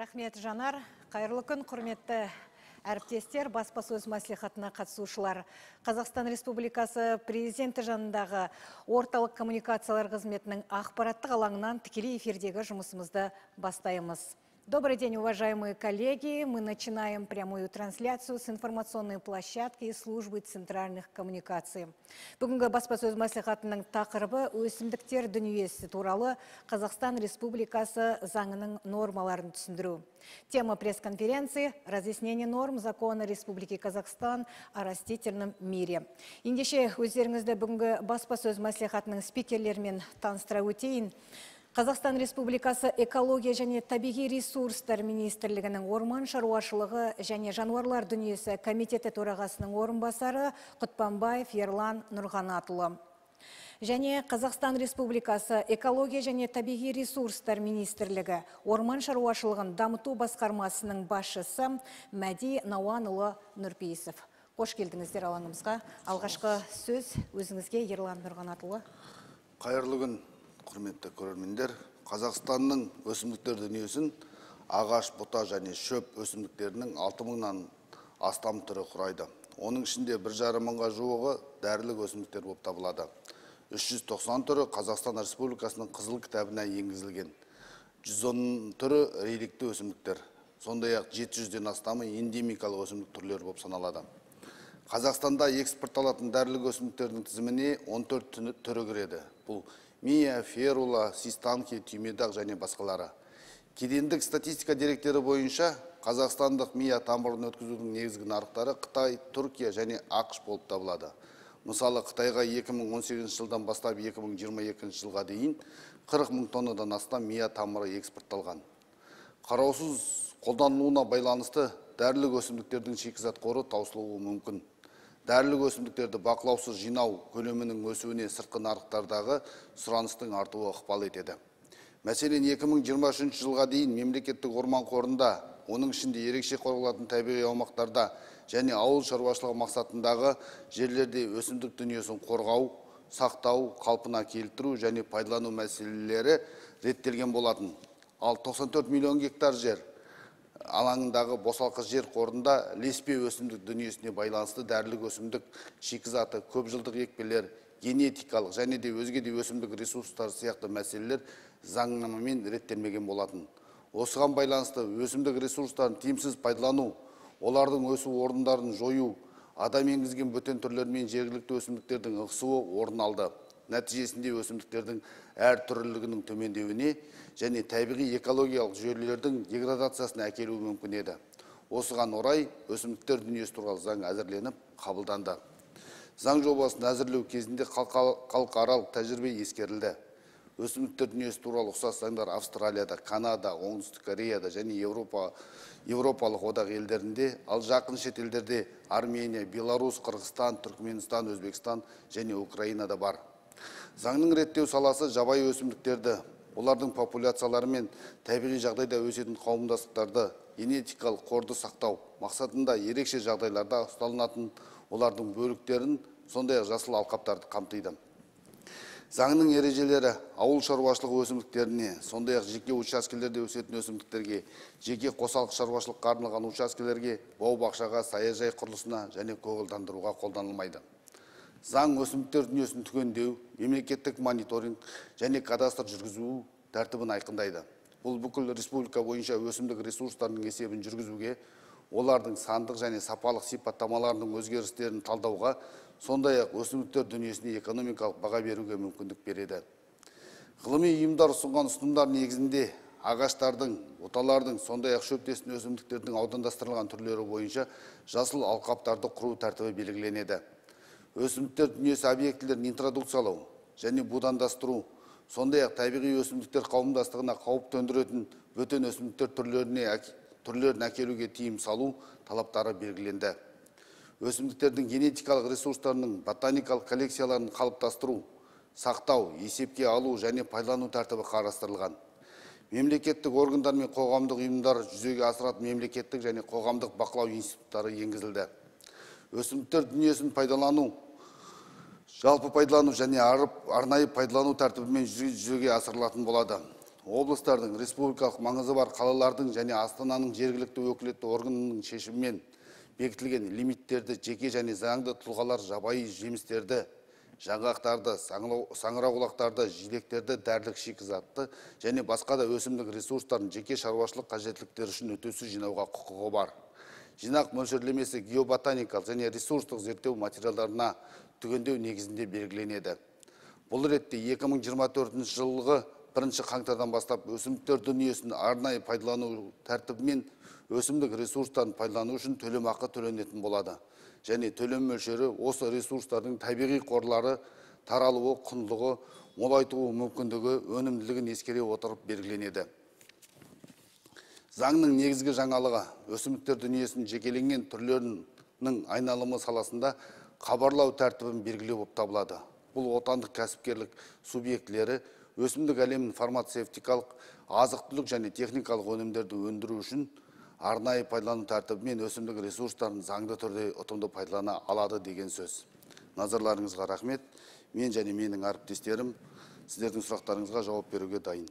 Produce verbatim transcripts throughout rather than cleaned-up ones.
Рахмет, Жанар. Қайырлы күн, құрметті әріптестер, баспасөз мәслихатына қатысушылар. Қазақстан Республикасы президенті жанындағы орталық коммуникациялар қызметінің ақпараттық алаңынан тікелей эфирдегі жұмысымызды бастаймыз. Добрый день, уважаемые коллеги. Мы начинаем прямую трансляцию с информационной площадки и службы центральных коммуникаций. Бүгінгі баспасөз мәслихатының тақырыбы өсімдіктер дүниесі туралы Қазақстан Республикасы заңының нормаларын түсіндіру. Тема пресс-конференции – разъяснение норм закона Республики Казахстан о растительном мире. Ендеше өздеріңізді бүгінгі баспасөз мәслихатының спикерлерімен таныстыра өтейін. Қазақстан Республикасы экология және табиғи ресурстар министрлігінің орман шаруашылығы және жануарлар дүниесі комитеті төрағасының орынбасары Құтпанбаев Ерлан Нұрғанатұлы. Және Қазақстан Республикасы экология және табиғи ресурстар министрлігі орман шаруашылығын дамыту басқармасының басшысы Мәди Науанұлы Нұрпейісов. Қош келдіңіздер алаңымызға. Алғашқы сөз өзіңізге, Ерлан Нұрғанатұлы. Қайырлы күн, құрметті көрермендер. Қазақстанның өсімдіктер дүниесін ағаш, бұта және шөп өсімдіктерінің алты мыңнан астам түрі құрайды. Оның ішінде бір жарым мыңға жуығы дәрілік өсімдіктер болып табылады. үш жүз тоқсан түрі Қазақстан Республикасының қызыл кітабына енгізілген. жүз он түрі реликті өсімдіктер. Сондай-ақ жеті жүзден астамы эндемикалық өсімдік түрлері болып саналады. Қазақстанда экспортталатын дәрілік өсімдіктердің тізіміне он төрт түрі кіреді. Бұл мия, ферула, систанки, түймедақ және басқалары. Кедендік статистика деректері бойынша қазақстандық мия тамырын өткізудің негізгі нарықтары Қытай, Түркия және ақш болып табылады. Мысалы, Қытайға екі мың он сегізінші жылдан бастап екі мың жиырма екінші жылға дейін қырық мың тоннадан астам мия тамыры экспортталған. Қараусыз қолданылуына байланысты дәрілік өсімдіктердің шикізат қоры таусылуы мүмкін. Дәрілік өсімдіктерді бақылаусыз жинау көлемінің өсуіне сыртқы нарықтардағы сұраныстың артуы ықпал етеді. Мәселен, екі мың жиырма үшінші жылға дейін мемлекеттік орман қорында, оның ішінде ерекше қорғалатын табиғи аумақтарда және ауыл шаруашылығы мақсатындағы жерлерде өсімдік дүниесін қорғау, сақтау, қалпына келтіру және пайдалану мәселелері реттелген болатын. Ал тоқсан төрт миллион гектар жер алаңындағы босалқы жер қорында ілеспе өсімдік дүниесіне байланысты дәрілік өсімдік шикізаты, көп жылдық екпелер, генетикалық және де өзге де өсімдік ресурстары сияқты мәселелер заңнамамен реттелмеген болатын. Осыған байланысты өсімдік ресурстарын тиімсіз пайдалану, олардың өсу орындарын жою, адам енгізген бөтен түрлермен жергілікті өсімдіктердің ығысуы орын алды. Нәтижесінде өсімдіктердің әр түрлілігінің төмендеуіне және табиғи экологиялық жүйелердің деградациясына әкелуі мүмкін еді. Осыған орай өсімдіктер дүниесі туралы заң әзірленіп қабылданды. Заң жобасын әзірлеу кезінде халықаралық тәжірибе ескерілді. Өсімдіктер дүниесі туралы ұқсас заңдар Австралияда, Канада, Оңтүстік Кореяда және Еуропа, Еуропалық одақ елдерінде, ал жақын шетелдерде Армения, Беларусь, Қырғызстан, Түркменстан, Өзбекстан және Украинада бар. Заңның реттеу саласы жабайы өсімдіктерді, олардың популяциялары мен табиғи жағдайда өсетін қауымдастықтарды, генетикалық қорды сақтау мақсатында ерекше жағдайларда ұсталынатын олардың бөліктерін, сондай-ақ жасыл алқаптарды қамтиды. Заңның ережелері ауыл шаруашылығы өсімдіктеріне, сондай-ақ жеке учаскелерде өсетін өсімдіктерге, жеке қосалқы шаруашылыққа арналған учаскелерге, бау-бақшаға, саяжай құрылысына және көгалдандыруға қолданылмайды. Заң өсімдіктер дүниесін түгендеу, мемлекеттік мониторинг және кадастр жүргізу тәртібін айқындайды. Бұл бүкіл республика бойынша өсімдік ресурстарының есебін жүргізуге, олардың сандық және сапалық сипаттамаларының өзгерістерін талдауға, сондай-ақ өсімдіктер дүниесіне экономикалық баға беруге мүмкіндік береді. Ғылыми ұйымдар ұсынған ұсынымдар негізінде ағаштардың, бұталардың, сондай-ақ шөптесін өсімдіктердің аудандастырылған түрлері бойынша жасыл алқаптарды құру тәртібі белгіленеді. Өсімдіктер дүниесі объектілерін интродукциялау және будандастыру, сондай-ақ табиғи өсімдіктер қауымдастығына қауіп төндіретін бөтен өсімдіктер түрлеріне түрлерін әкелуге тыйым салу талаптары белгіленді. Өсімдіктердің генетикалық ресурстарының ботаникалық коллекцияларын қалыптастыру, сақтау, есепке алу және пайдалану тәртібі қарастырылған. Мемлекеттік органдар мен қоғамдық ұйымдар жүзеге асыратын мемлекеттік және қоғамдық бақылау институттары енгізілді. Өсімдіктер дүниесін пайдалану, жалпы пайдалану және арнайы пайдалану тәртібімен жүзеге асырылатын болады. облыстардың республикалық маңызы бар қалалардың және Астананың жергілікті өкілетті органының шешімімен бекітілген лимиттерді жеке және заңды тұлғалар жабайы жемістерді, жаңғақтарды, саңырауқұлақтарды, жидектерді, дәрілік шикізатты және басқа да өсімдік ресурстарын жеке шаруашылық қажеттіліктері үшін өтеусіз жинауға құқығы бар. Жинақ мөлшерлемесі геоботаникалық және ресурстық зерттеу материалдарына түгендеу негізінде белгіленеді. Бұл ретте екі мың жиырма төртінші жылғы бірінші қаңтардан бастап өсімдіктер дүниесін арнайы пайдалану тәртібімен өсімдік ресурстарын пайдалану үшін төлемақы төленетін болады. Және төлем мөлшері осы ресурстардың табиғи қорлары таралуы, құндылығы, молайтуы мүмкіндігі, өнімділігін ескере отырып белгіленеді. Заңның негізгі жаңалығы өсімдіктер дүниесінің жекеленген түрлерінің айналымы саласында хабарлау тәртібін белгілеу болып табылады. Бұл отандық кәсіпкерлік субъектілері өсімдік әлемін фармацевтикалық, азық-түлік және техникалық өнімдерді өндіру үшін арнайы пайдалану тәртібімен өсімдік ресурстарын заңды түрде ұтымды пайдалана алады деген сөз. Назарларыңызға рахмет. Мен және менің әріптестерім сіздердің сұрақтарыңызға жауап беруге дайын.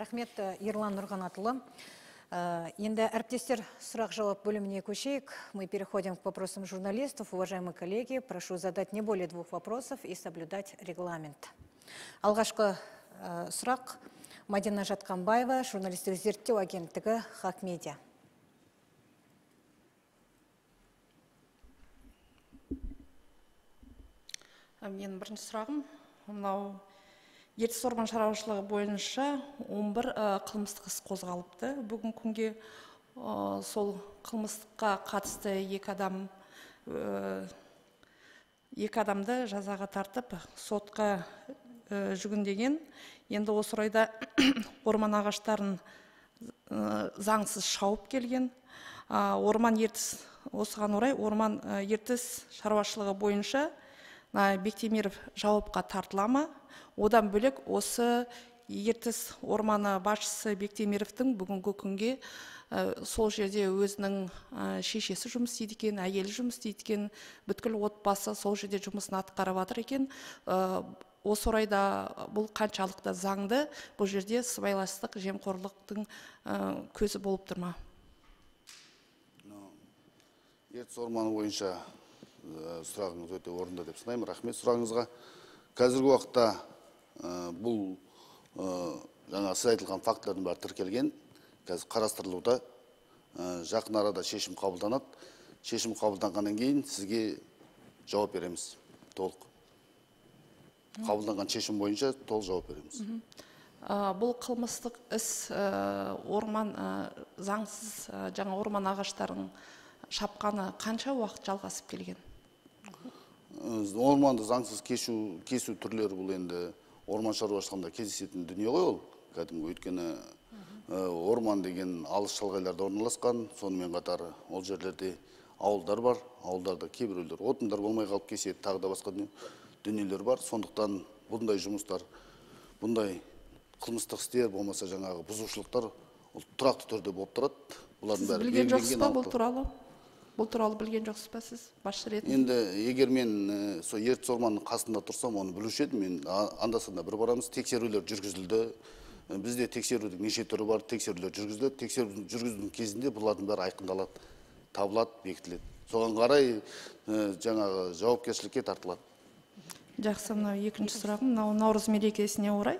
Рахмет, Ерлан Нұрғанатұлы. Енді әріптестер сұрақ-жауап бөліміне көшейік. Мы переходим к вопросам журналистов. Уважаемые коллеги, прошу задать не более двух вопросов и соблюдать регламент. Алғашқы сұрақ Мадина Жатқанбаева, журналистік зерттеу агенттігі Хакмедиа. Мен бірінші сұрағым, мынау ертіс орман шаруашылығы бойынша он бір қылмыстық іс қозғалыпты. Бүгін күнге сол қылмыстыққа қатысты екі адам екі адамды жазаға тартып, сотқа жүгіндеген. Енді осы орайда орман ағаштарын заңсыз шауып келген. Орман ертіс, осыған орай орман ертіс шаруашылығы бойынша Бектемиров жауапқа тартылама. Одан бөлек осы ертіс орманы басшысы Бектемировтың бүгінгі күнге сол жерде өзінің шешесі жұмыс істейді екен, әйелі жұмыс істейді екен, бүткіл отбасы сол жерде жұмысын атқарып жатыр екен. Осы орайда бұл қаншалықты заңды, бұл жерде сыбайластық, жемқорлықтың көзі болып тұр ма? Ертіс орманы бойынша сұрағыңыз өте орынды деп санаймын. Рахмет сұрағыңызға. Қазіргі уақытта бұл жаңа сіз айтылған фактілердің бәрі тіркелген, қазір қарастырылуда. Жақын арада шешім қабылданады. Шешім қабылданғаннан кейін сізге жауап береміз. Толық. Қабылданған шешім бойынша толық жауап береміз. Бұл қылмыстық іс орман заңсыз жаңа орман ағаштарын шапқаны қанша уақыт жалғасып келген? Орманды заңсыз кесу түрлері бұл енді орман шаруашылығында кездесетін дүние ғой ол. Кәдімгі өйткені орман деген алыс шалғайларда орналасқан, сонымен қатар ол жерлерде ауылдар бар, ауылдарда кейбіреулер отындар болмай қалып кеседі, тағы да басқа дүниелер бар. Сондықтан бұндай жұмыстар, бұндай қылмыстық істер болмаса жаңағы бұзушылықтар тұрақты түрде болып тұрады. Сіз білген жоқсыз ба бұл туралы? Бұл туралы білген жоқсыз ба сіз басшы ретінде? Енді егер мен сол ертіс орманның қасында тұрсам, оны білуші едім. Мен анда-санда бір барамыз, тексерулер жүргізілді. Бізде тексерудің неше түрі бар, тексерулер жүргізілді. Тексеру жүргізудің кезінде бұлардың бәрі айқындалады, табылады, бекітіледі. Соған қарай жаңағы жауапкершілікке тартылады. Жақсы, мынау екінші сұрағым, мынау Наурыз мерекесіне орай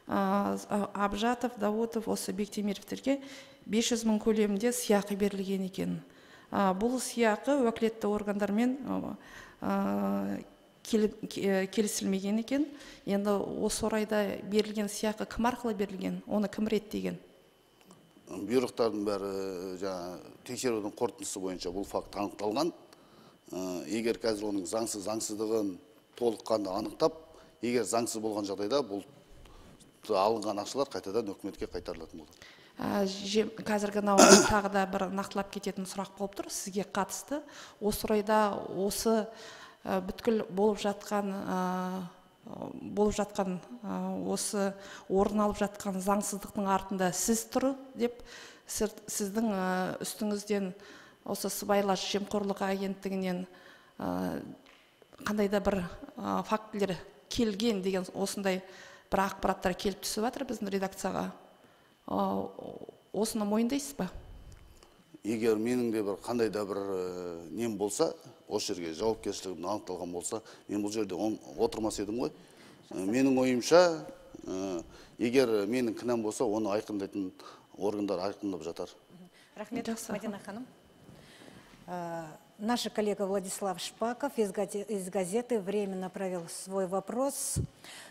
Абжатов, Даутов осы Бектемировтерге бес жүз мың көлемінде сыйақы берілген екен. Бұл сыйақы уәкілетті органдармен келісілмеген екен. Енді осы орайда берілген сыйақы кім арқылы берілген? Оны кім реттеген? Бұйрықтардың бәрі тексерудің қорытындысы бойынша бұл факт анықталған. Егер қазір оның заңсыз заңсыздығын толыққанды анықтап, егер заңсыз болған жағдайда бұл алынған ақшалар қайтадан үкіметке қайтарылатын болады. Қазіргі тағы да бір нақтылап кететін сұрақ болып тұр сізге қатысты. Осы орайда осы бүткіл болып жатқан болып жатқан осы орын алып жатқан заңсыздықтың артында сіз тұр деп сіздің үстіңізден осы сыбайлас жемқорлық агенттігінен қандай да бір фактілер келген деген осындай бір ақпараттар келіп түсіп жатыр біздің редакцияға. Осыны мойындайсыз ба? Егер менің де бір қандай да бір нем болса, осы жерге жауапкершілігім анықталған болса, мен бұл жерде отырмас едім ғой. Менің ойымша, егер менің кінәм болса, оны айқындайтын органдар айқындап жатар. Рахмет, Мадина ханым. Наш коллега Владислав Шпаков из газеты временно провел свой вопрос.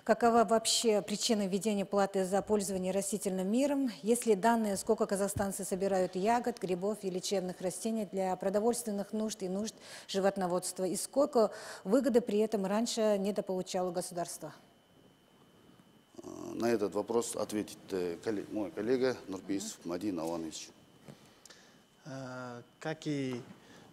Какова вообще причина введения платы за пользование растительным миром? Есть ли данные, сколько казахстанцы собирают ягод, грибов и лечебных растений для продовольственных нужд и нужд животноводства? И сколько выгоды при этом раньше недополучало государство? На этот вопрос ответит мой коллега Нурпейсов Мадин Аланович. Как и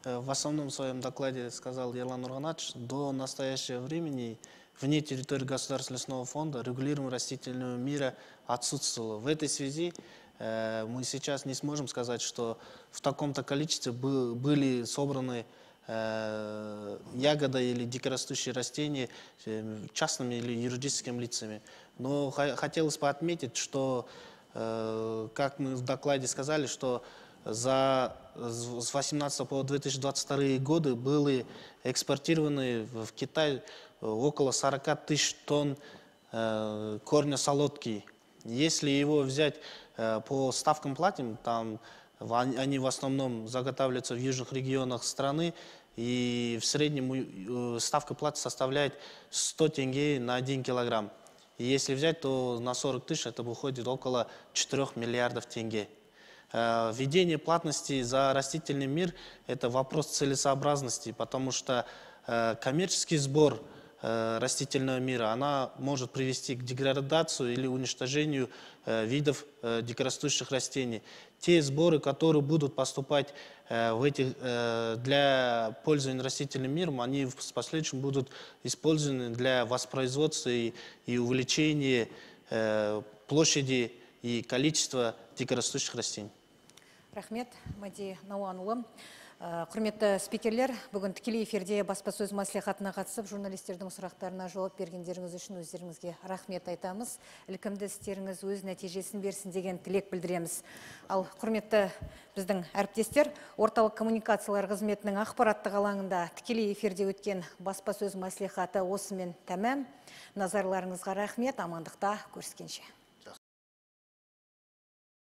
в основном своем докладе сказал Ерлан Нурганач, до настоящего времени вне территории Государственного лесного фонда регулирование растительного мира отсутствовало. В этой связи э, мы сейчас не сможем сказать, что в таком-то количестве был, были собраны э, ягоды или дикорастущие растения э, частными или юридическими лицами. Но хотелось бы отметить, что, э, как мы в докладе сказали, что за с две тысячи восемнадцатого по две тысячи двадцать второй годы были экспортированы в Китай около сорока тысяч тонн э, корня солодки. Если его взять э, по ставкам платим, там они в основном заготавливаются в южных регионах страны, и в среднем э, ставка платы составляет сто тенге на один килограмм. И если взять, то на сорок тысяч это выходит около четырёх миллиардов тенге. Введение платности за растительный мир – это вопрос целесообразности, потому что коммерческий сбор растительного мира она может привести к деградации или уничтожению видов дикорастущих растений. Те сборы, которые будут поступать в этих, для пользования растительным миром, они в последующем будут использованы для воспроизводства и, и увеличения площади и количества дикорастущих растений. Рахмет, Мади Науанұлы. Құрметті спикерлер, бүгін тікелей эфирде баспасөз мәслихатына қатысып, журналистердің сұрақтарына жауап бергендеріңіз үшін өздеріңізге рахмет айтамыз. Ілкімді істеріңіз өз нәтижесін берсін деген тілек білдіреміз. Ал құрметті біздің әріптестер, орталық коммуникациялар қызметінің ақпараттық алаңында тікелей эфирде өткен баспасөз мәслихаты осымен тәмам. Назарларыңызға рахмет, амандықта көріскенше.